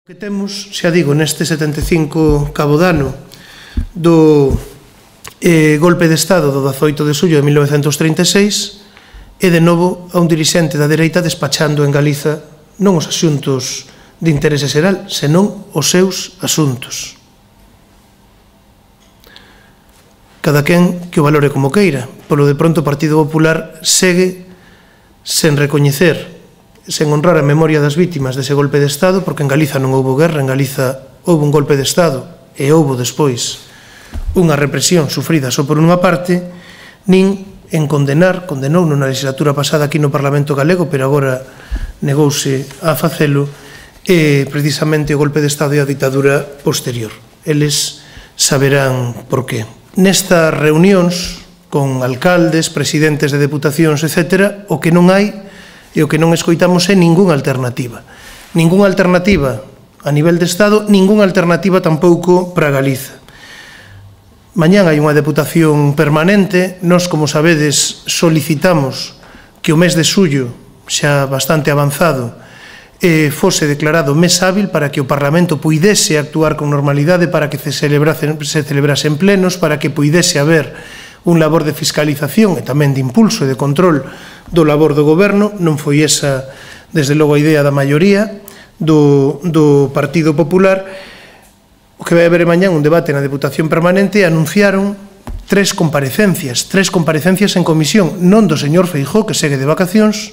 Que temos, xa digo, neste 75 cabo dano do golpe de Estado do 18 de xullo de 1936 e de novo a un dirixente da dereita despachando en Galiza non os asuntos de interese xeral, senón os seus asuntos. Cada quen que o valore como queira. Polo de pronto o Partido Popular segue sen recoñecer, sen honrar a memoria das vítimas dese golpe de Estado, porque en Galiza non houbo guerra, en Galiza houbo un golpe de Estado e houbo despois unha represión sufrida só por unha parte, nin en condenou na legislatura pasada aquí no Parlamento Galego, pero agora negouse a facelo, precisamente o golpe de Estado e a ditadura posterior. Eles saberán por qué. Nestas reunións con alcaldes, presidentes de deputacións, etc., o que non hai e o que non escoitamos é ningunha alternativa. Ningunha alternativa a nivel de Estado, ningunha alternativa tampouco para Galiza. Mañán hai unha deputación permanente. Nós, como sabedes, solicitamos que o mes de xullo, xa bastante avanzado, fose declarado mes hábil para que o Parlamento puidese actuar con normalidade, para que se celebrasen plenos, para que puidese haber un labor de fiscalización e tamén de impulso e de control do labor do goberno. Non foi esa, desde logo, a idea da maioría do Partido Popular. O que vai haber mañán un debate na Deputación Permanente e anunciaron tres comparecencias en comisión, non do señor Feijóo, que segue de vacacións,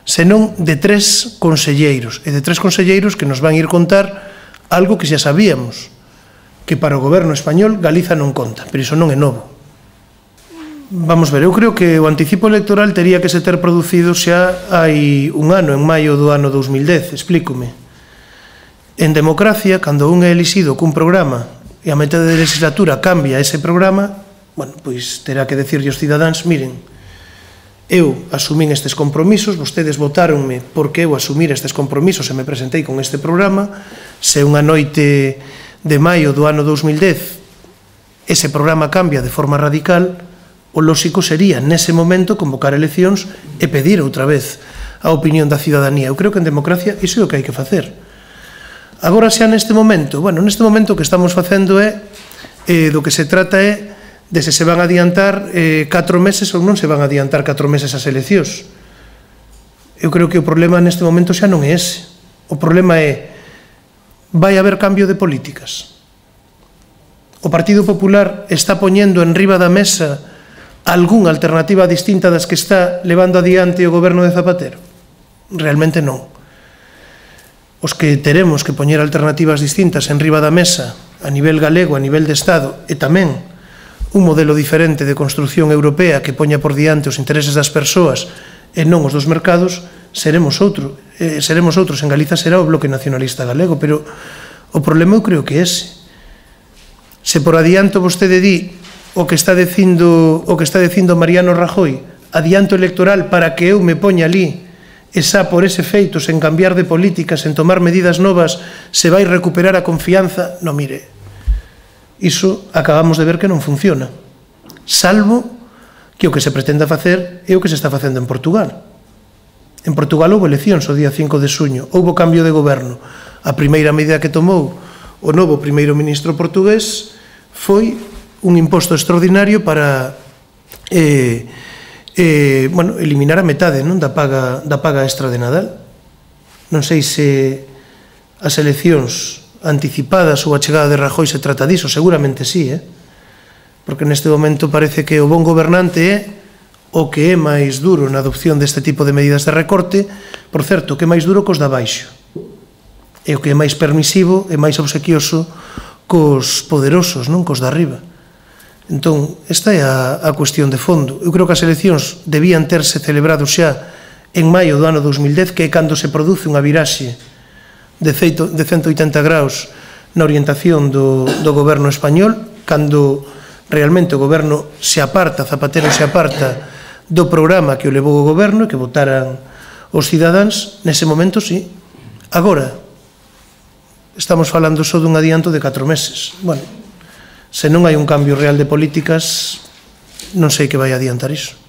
senón de tres conselleiros, e de tres conselleiros que nos van ir contar algo que xa sabíamos, que para o goberno español Galiza non conta, pero iso non é novo. Vamos ver, eu creo que o anticipo electoral tería que se ter producido xa hai un ano, en maio do ano 2010, explícome. En democracia, cando un é elixido cun programa e a metade de legislatura cambia ese programa, bueno, pois terá que decirlle aos cidadáns: miren, eu asumín estes compromisos, vostedes votáronme porque eu asumir estes compromisos e me presentei con este programa. Se unha noite de maio do ano 2010 ese programa cambia de forma radical, o lóxico sería, nese momento, convocar eleccións e pedir outra vez a opinión da cidadanía. Eu creo que en democracia iso é o que hai que facer. Agora xa neste momento, bueno, neste momento o que estamos facendo é, do que se trata é de se van a adiantar 4 meses ou non se van a adiantar 4 meses as eleccións. Eu creo que o problema neste momento xa non é ese. O problema é, vai haber cambio de políticas? O Partido Popular está poñendo en riba da mesa algunha alternativa distinta das que está levando adiante o goberno de Zapatero? Realmente non. Os que teremos que poñer alternativas distintas en riba da mesa a nivel galego, a nivel de Estado, e tamén un modelo diferente de construción europea que poña por diante os intereses das persoas e non os dos mercados, seremos outros. En Galiza será o Bloque Nacionalista Galego, pero o problema eu creo que é ese. Se por adianto vostede di o que está dicindo Mariano Rajoy, adianto electoral para que eu me poña ali, e xa por ese feito, sen cambiar de políticas, sen tomar medidas novas, se vai recuperar a confianza. Non, mire, iso acabamos de ver que non funciona, salvo que o que se pretenda facer é o que se está facendo en Portugal. En Portugal houve eleccións o día 5 de xuño, houve cambio de goberno. A primeira medida que tomou o novo primeiro ministro portugués foi un imposto extraordinario para eliminar a metade da paga extra de Nadal. Non sei se as eleccións anticipadas ou a chegada de Rajoy se trata diso, seguramente sí, porque neste momento parece que o bon gobernante é o que é máis duro na adopción deste tipo de medidas de recorte, por certo, que é máis duro cos de abaixo, e o que é máis permisivo e máis obsequioso cos poderosos, non cos de arriba. Entón, esta é a cuestión de fondo. Eu creo que as eleccións debían terse celebrado xa en maio do ano 2010, que é cando se produce unha viraxe de 180 graus na orientación do goberno español, cando realmente o goberno se aparta, Zapatero se aparta do programa que o levou o goberno e que votaran os cidadáns. Nese momento, sí. Agora, estamos falando só dun adianto de 4 meses. Bueno, se non hai un cambio real de políticas, non sei que vai adiantar iso.